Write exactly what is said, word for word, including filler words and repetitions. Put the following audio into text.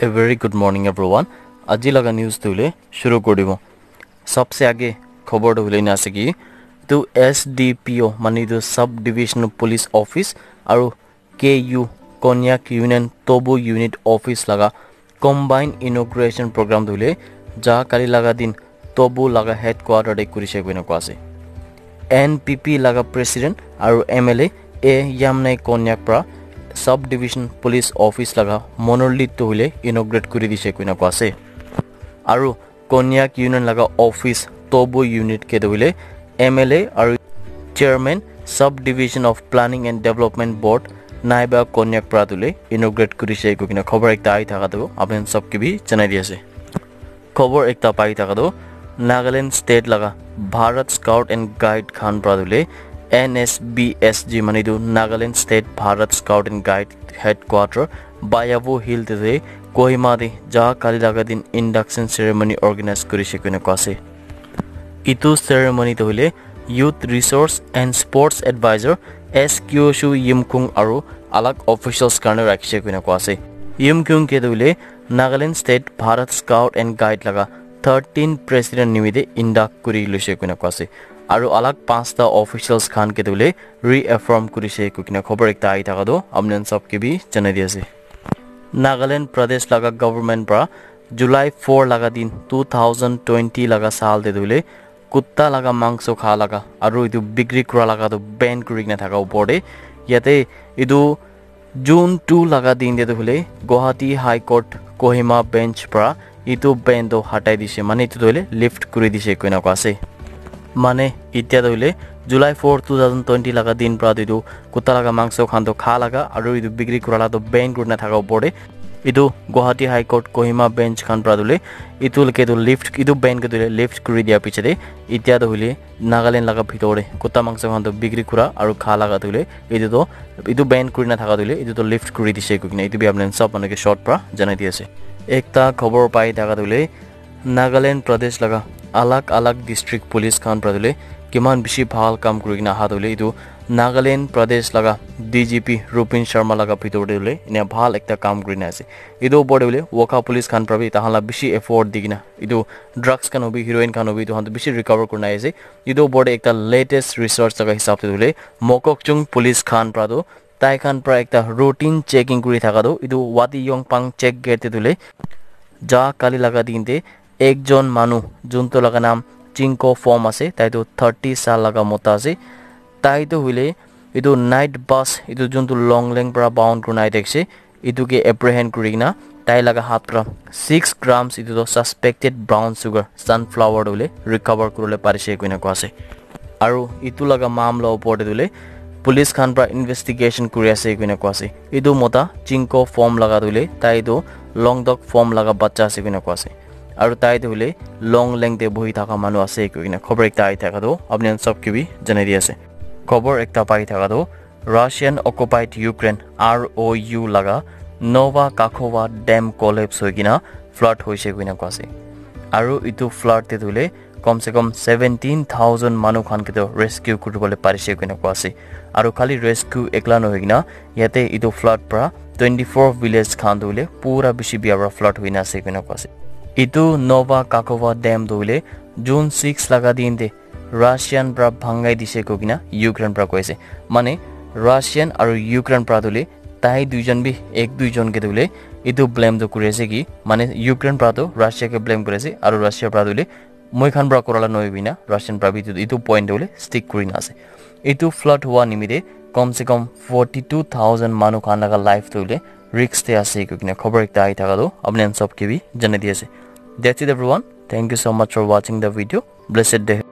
A very good morning, everyone. Aji laga news tu hule shuru kori dibo. Sabse aage khobor tu hule na ase ki, tu S D P O, mane tu Sub Divisional Police Office aru K U, Konyak Union Tobu Unit Office laga combined inauguration program tu hule ja kali laga din Tobu laga headquarter te kurishe koina koa ase. N P P laga president aru M L A A Yamnai Konyak pra Sub Division Police Office laga monolith tu hule inaugurate kuri dishe koina koa ase. Aru Konyak Union laga office Tobu unit ke tu hule M L A aru chairman Sub Division of Planning and Development Board Naiba Konyak pra tu hule inaugurate kurishe koina khobor ekta ahi thaka tu apni sob ke bi janai di ase. Khobor ekta pai thaka tu Nagaland State laga Bharat Scout and Guide khan pra tu hule N S B S G, mane tu Nagaland State Bharat Scout and Guide headquarter Bayabo Hill te Kohima te ja kali laga din induction ceremony organize kurishe koina koa ase. Itu ceremony tu hule Youth Resource and Sports Advisor S Kyoshu Yimkung aru alag officials karne rakhishe koina koa ase. Yimkung ke tu hule Nagaland State Bharat Scout and Guide laga thirteen president nimite induct kuri loishe koina koa ase. Aru alag panchta officials khan ke tu hule reaffirm kurishe koina khobor ekta ahi thaka tu apni sob ke bi janai di ase. Nagaland Pradesh laga government pra July four laga din two thousand twenty laga saal te tu hule kutta laga mangso kha laga aru itu bikri kura laga tu ban kuri kena thaka upor te yate itu June two laga din te tu hule Guwahati High Court Kohima bench pra itu ban tu hatai dishe, mane itu tu hule lift kuri dishe koina koa ase. Mane itya tu hule July four, two thousand twenty laga din pra tu itu kutta laga mangso khan tu kha laga aru itu bikri kura laga tu ban kuri na thaka upor te itu Guwahati High Court Kohima bench khan pra tu hule itu ke tu lift, itu ban ke tu hule lift kuri dia piche te itya tu hule Nagaland laga bhitor te kutta mangso khan tu bikri kura aru kha laga tu hule itu tu itu ban kuri na thaka tu hule itu tu lift kuri dishe koina itu bi apni sob manu ke short pra janai di ase. Ekta khobor pai thaka tu hule Nagaland Pradesh laga alag alag district police khan pra tu hule kiman bishi bhal kam kuri kena aha tu hule itu Nagaland Pradesh laga D G P Rupin Sharma laga bhitor te tu hule enia bhal ekta kam kuri na ase. Itu upor te tu hule Wokha police khan pra bi tahan la bishi effort di kena itu drugs khan hobi, heroin khan hobi, itu khan tu bishi recover kuri na ase. Itu upor te ekta latest research laga hisab te tu hule Mokokchung police khan pra tu tai khan pra ekta routine checking kuri thaka tu itu Wati Yongpang check gate te tu hule ja kali laga din te ekjon manu juntu laga naam Chinko Form ase, tai tu thirty saal laga mota ase. Tai tu hule itu night bus itu juntu Longleng pra bound kurina ahi thakishe itu ke apprehend kuri kena tai laga hath pra six grams itu tu suspected brown sugar sunflower tu hule recover kuribole parishe koina koa ase. Aru itu laga mamla upor te tu hule police khan pra investigation kuri ase koina koa ase. Itu mota Chinko Form laga tu hule tai tu Longdok Form laga bacha ase koina koa ase. Aru tai tu hule Longleng te bohi thaka manu ase koina khobor ekta ahi thaka tu apni khan sob ke bi janai di ase. Khobor ekta pai thaka tu Russian occupied Ukraine R O U laga Nova Kakhovka dam collapse hoi kena flood hoise koina koa ase. Aru itu flood te tu hule kom se kom seventeen thousand manu khan ke tu rescue kuribole parishe koina koa ase. Aru khali rescue ekla nohoi kena yate itu flood pra twenty four village khan tu hule pura bishi bia pra flood hoina ase koina koa ase. Itu Nova Kakhovka dam tu hule June six laga din te Russian pra bhangai dise koi kena Ukraine pra koi ase. Mane Russian aru Ukraine pra tu hule tai duijon bi ek duijon ke tu hule itu blame tu kuri ase ki mane Ukraine pra tu Russia ke blame kuri ase aru Russia pra tu hule moi khan pra kura la nohoi koina Russian pra bi itu, itu point tu hule stick kuri na ase. Itu flood hua nimite kom se kom forty two thousand manu khan laga life tu hule risk te ase koi kena khobor ekta ahi thaka tu apni khan sob ke bi janai di ase. That's it everyone. Thank you so much for watching the video. Blessed day.